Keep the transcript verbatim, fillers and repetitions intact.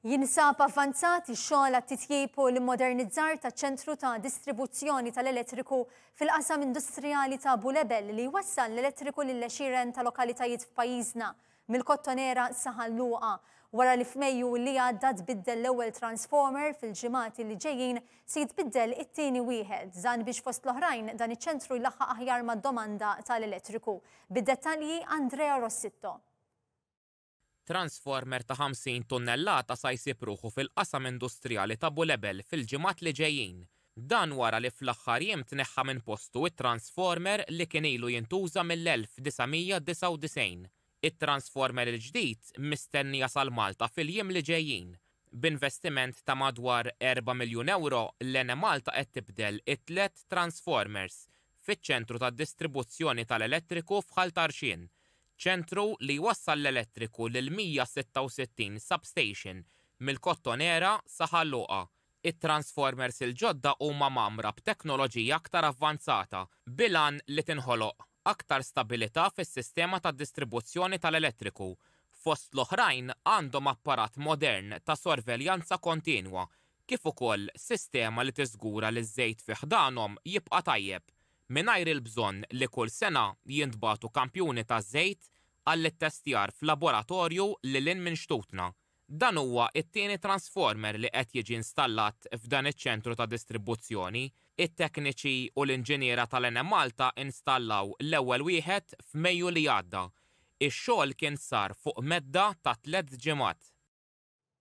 Jinsab avvanzat ix-xogħol għat-titjib u l-immodernizzar ta' ċentru ta' distribuzzjoni tal-elettriku fil-qasam industrijali ta' Bulebel li jwassal l-elettriku lil għexieren ta' lokalitajiet f'pajjiżna mill-Kottonera sa Ħal Luqa. Wara li f'Mejju li għadda tbiddel l-ewwel transformer, fil-ġimgħat li ġejjin se jitbiddel it-tieni wieħed. Dan biex, fost l-oħrajn, dan iċ-ċentru jlaħħaq aħjar mad-domanda tal-elettriku. Bid-dettalji, Andrea Rossitto. Transformer ta' ħamsin tunnellata sa jsib ruħu fil-qasam industrijali ta' Bulebel fil-ġimgħat li ġejjin. Dan wara li fl-aħħar jiem tneħħa minn postu it-transformer li kien ilu jintuża mill-elf disa' mija disgħa u disgħin. It-transformer il-ġdid mistenni jasal Malta fil-jiem li ġejjin. B'investiment ta' madwar erba' miljun euro, l-Enemalta qed tibdel it-tlet transformers fiċ-ċentru ta' distribuzzjoni tal-elettriku f'Ħal Tarxien. Ċentru li jwassal l-elettriku lil mija sitta u sittin substation mill-Kottonera sa Ħal Luqa. It-transformers il-ġodda huma mgħammra b'teknoloġija aktar avvanzata bil-għan li tinħoloq aktar stabilità fis-sistema ta' distribuzzjoni tal-elettriku. Fost l-oħrajn, għandhom apparat modern ta' sorveljanza kontinwa, kif ukoll sistema li tiżgura li ż-żejt fi ħdanhom jibqa' tajjeb mingħajr il-bżonn li kull sena jintbagħtu kampjuni ta' żejt għall-ittestjar f'laboratorju lil hinn minn xtutna. Dan huwa it-tieni transformer li qed jiġi installat f'dan iċ-ċentru ta' distribuzzjoni. It-tekniċi u l-inġiniera tal-Enemalta installaw l-ewwel wieħed f'Mejju li għadda. Ix-xogħol kien sar fuq medda ta' tliet ġimgħat.